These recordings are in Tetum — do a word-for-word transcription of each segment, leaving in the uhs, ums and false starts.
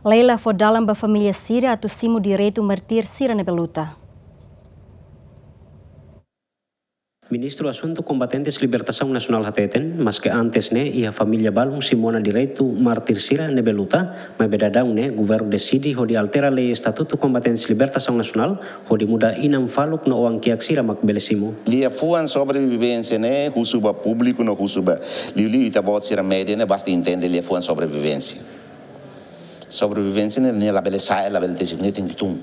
Lei la fó dalan ba família sira atu simu direitu mártir sira ne'ebé luta. Ministru Asuntu Kombatentes Libertasaun Nasionál hateten, maske antes ne'e iha família balun simu ona direitu mártir sira ne'ebé luta, maibé daudaun ne'e governu deside hodi altera lei Estatutu Kombatentes Libertasaun Nasionál hodi muda inan faluk no oan-kiak sira mak bele simu. Liafuan sobrevivénsia ne'e husu ba públiku no husu ba liuliu ita-boot sira média ne'e basta entende liafuan sobrevivénsia. Sobrevivénsia ne'e, ne'e labele sa'e, labele tesi, ne'e tenke tun.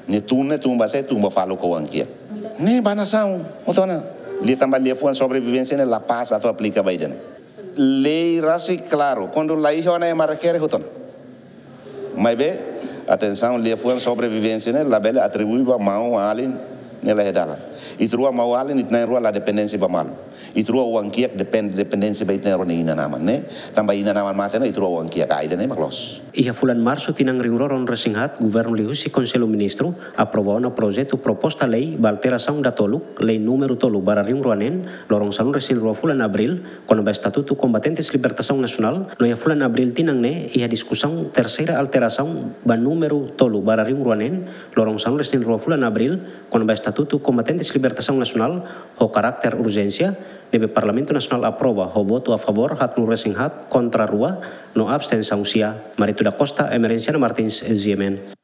Ne'e tun, ne'e tun ba sé, tun ba faluk ho oan-kiak. Ne'e ba nasaun, hotu ona. Liu tanba liafuan sobrevivénsia ne'e la pas atu aplika ba ida-ne'e. Lei rasik klaru, kuandu la iha ona ema rekere hotu ona. Maibé, atensaun, liafuan sobrevivénsia ne'e labele atribui ba maun, alin, ne'e la iha dalan. Ita rua maun-alin, ita na'in-rua la dependénsia ba malu. Ita rua oan-kiak depen-, dependénsia ba ita na'in-rua nia inan-aman ne'e. Tanba inan-aman mate ona, ita rua oan-kiak, ah, ida-ne'e mak loos. Iha fulan Marsu tinan rihun rua ruanulu-resin-haat, governu liuhusi Konsellu Ministru aprova ona projetu proposta lei ba alterasaun datoluk, lei númeru tolu barra rihun rua neen, loron sanulu-resin-rua fulan Abríl, kona-ba Estatutu Kombatentes Libertasaun Nasionál, no iha fulan Abríl tinan ne'e iha diskusaun terseira alterasaun ba númeru tolu barra rihun rua neen, loron sanulu-resin-rua fulan Abríl, kona-ba Estatutu Kombatentes Libertasaun Nasionál, ho karakter urjénsia, ne'ebé Parlamentu Nasionál aprova ho votu a favór haatnulu-resin-haat, kontra rua, no abstensaun sia. Marito da Costa, Emerenciana Martins, G M N.